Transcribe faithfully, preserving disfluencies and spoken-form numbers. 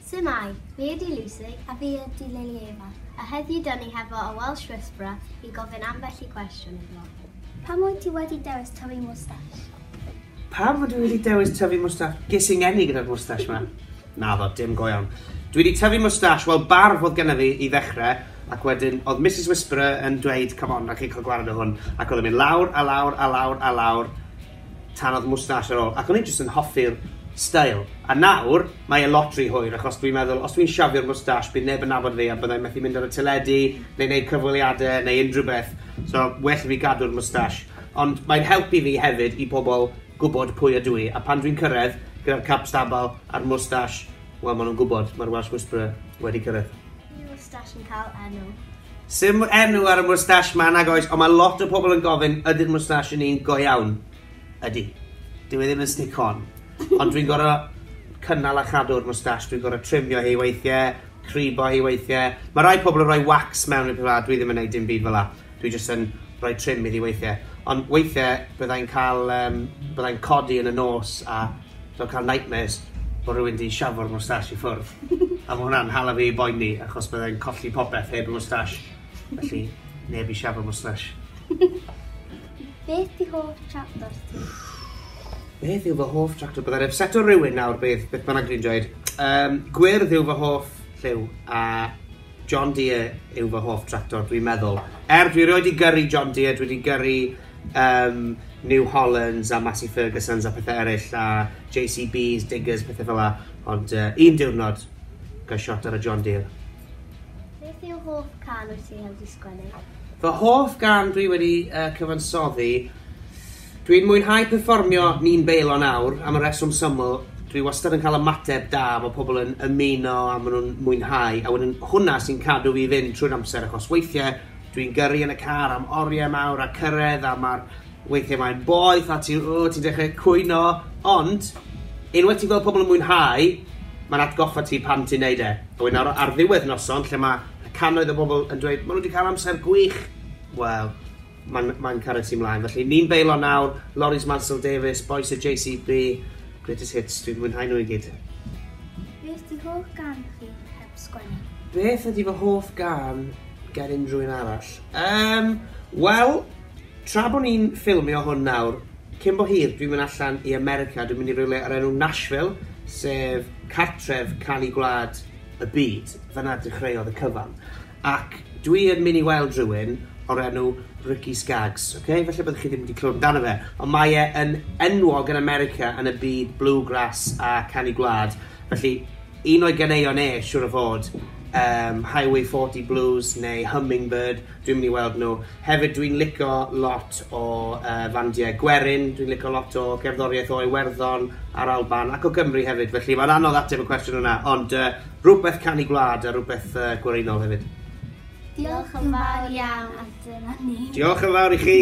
Shwmae, fi ydi Lucy. A fi ydi Lily Eva. A heddiw dyn ni hefo y Welsh Whisperer i gofyn ambell i cwestiwn iddo. Pam wyt ti wedi dewis tyfu mwstash? Pam fod dwi wedi dewis tyfu mwstash? Ges i'n ngeni gyda'r mwstash 'ma. Naddo, dim go iawn. Dwi wedi tyfu mwstash, wel, barf oedd genna fi i ddechrau, ac wedyn oedd Missus Whisperer yn dweud, "Come on, rhaid chi cael gwared o hwn." Ac oedd yn mynd lawr a lawr a lawr a lawr, tan oedd mwstash ar ôl. Ac o'n i jyst yn hoffi'r style. A nawr, mae e lot rhy hwyr, achos dwi'n meddwl, os dwi'n siafio'r mwstash, bydd neb yn nabod fi a byddai'n methu mynd ar y teledu, neu wneud cyfweliadau, neu unrhyw beth. So, well i fi gadw'r mwstash. Ond mae'n helpu fi hefyd i pobl gwybod pwy ydw i. A pan dwi'n cyrraedd, gyda'r cap stabal a'r mwstash, wel, maen nhw'n gwybod, mae'r Welsh Whisperer wedi cyrraedd. Ydy mwstash yn cael enw? Sim enw ar y mwstash ma, nag oes, ond mae lot o pobl yn gofyn, "Ydy'r mwstash yn un go iawn?" Ydy. Dyw e ddim yn stick-on. Ond dwi'n gorfod cynnal a chadw'r mwstash, dwi'n gorfod trimio hi weithiau, cribo hi weithiau. Mae rai pobl yn rhoi wax mewn i'r peth, dwi ddim yn gwneud dim byd fel la. Dwi jyst yn rhoi trim iddi weithiau. Ond weithiau byddai'n cael, um, byddai'n codi yn y nos a dwi'n cael nightmares bod rhywun di siafo'r mwstash i ffwrdd. A mae hwnna'n hala fi i boeni achos byddai'n colli popeth heb y mwstash. Felly, neb i siafo'r mwstash. Beth di hoff tractor ti? Beth yw fy hoff tractor? Byddai'n upseto rhywun nawr beth, beth bynnag dwi'n dweud. Um, gwyrdd yw fy hoff lliw a John Deere yw fy hoff tractor, dwi'n meddwl. Er dwi erioed 'di gyrru John Deere, dwi wedi gyrru um, New Hollands a Massey Fergusons a pethau eraill a J C Bs, Diggers, pethau fel la. Ond uh, un diwrnod, gael shot ar y John Deere. Beth yw hoff cân wyt ti wedi sgwennu? Fy hoff gân dwi wedi uh, cyfansoddi, dwi'n mwynhau perfformio Ni'n Beilo Nawr, am y reswm syml, dwi wastad yn cael ymateb da, mae pobl yn ymuno a maen nhw'n mwynhau, a wedyn hwnna sy'n cadw fi fynd trwy'r amser, achos weithiau dwi'n gyrru yn y car am oriau mawr a cyrraedd, a mae'r weithiau mae'n boeth a ti'n oh, ti dechrau cwyno, ond unwaith ti'n gweld pobl yn mwynhau, mae'n atgoffa ti pan ti'n neud e. A wedyn ar, ar ddiwedd noson, lle mae cannoedd o bobl yn dweud, "Maen nhw wedi cael amser gwych," wel, mae'n mae cario ti mlaen. Felly, Ni'n Beilo Nawr, Loris Mansell Davies, Boys y J C B, Greatest Hits, dwi'n mwynhau nhw i gyd. Beth di hoff gân chi heb sgwennu? Beth ydy fy hoff gân gen unrhyw un arall? Um, Wel, tra bod ni'n ffilmio hwn nawr, cyn bo hir dwi'n mynd allan i America, dwi'n mynd i rywle ar enw Nashville, sef cartref canu gwlad y byd. Fyna dechreuodd y cyfan. Ac dwi yn mynd i weld rhywun o'r enw Ricky Skaggs. Okay? Felly byddwch chi ddim wedi clywed amdano fe. Ond mae e yn enwog yn America yn y byd bluegrass a canu gwlad. Felly, un o'i ganeuon e, siŵr o fod, um, Highway forty Blues neu Hummingbird, dwi'n mynd i weld nhw. Hefyd dwi'n licio lot o uh, fandiau gwerin, dwi'n licio lot o gerddoriaeth o Iwerddon a'r Alban ac o Gymru hefyd, felly mae'n anodd ateb y cwestiwn yna, ond uh, rhywbeth canu gwlad a rhywbeth uh, gwerinol hefyd. Diolch yn fawr iawn a dyna ni. Diolch yn fawr i chi!